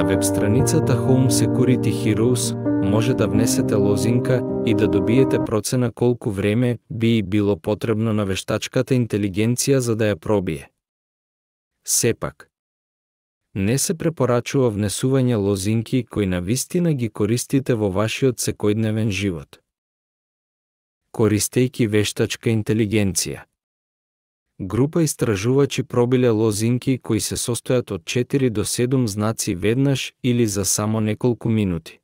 веб-страницата Home Security Heroes може да внесете лозинка и да добиете процена колку време би било потребно на вештачката интелигенција за да ја пробие. Сепак, не се препорачува внесување лозинки кои навистина ги користите во вашиот секојдневен живот. Користејќи вештачка интелигенција. Група истражувачи пробиле лозинки кои се состојат од 4 до 7 знаци веднаш или за само неколку минути.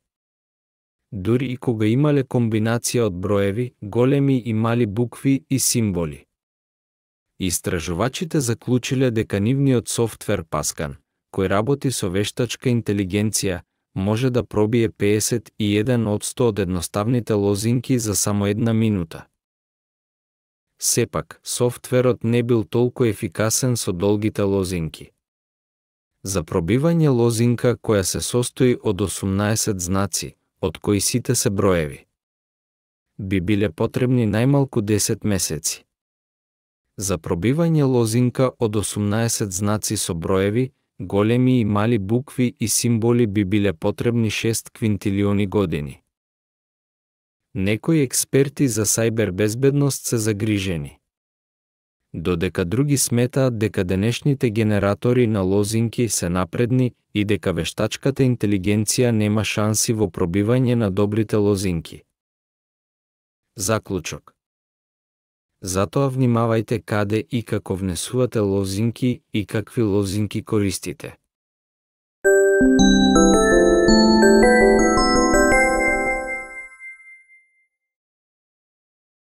Дури и кога имале комбинација од броеви, големи и мали букви и символи. Истражувачите заклучиле дека нивниот софтвер Pascan, кој работи со вештачка интелигенција, може да пробие 51% од едноставните лозинки за само една минута. Сепак, софтверот не бил толку ефикасен со долгите лозинки. За пробивање лозинка која се состои од 18 знаци, од кои сите се броеви, би биле потребни најмалку 10 месеци. За пробивање лозинка од 18 знаци со броеви, големи и мали букви и символи би биле потребни 6 квинтилиони години. Некои експерти за сајбер безбедност се загрижени, додека други сметаат дека денешните генератори на лозинки се напредни и дека вештачката интелигенција нема шанси во пробивање на добрите лозинки. Заклучок. Затоа внимавајте каде и како внесувате лозинки и какви лозинки користите.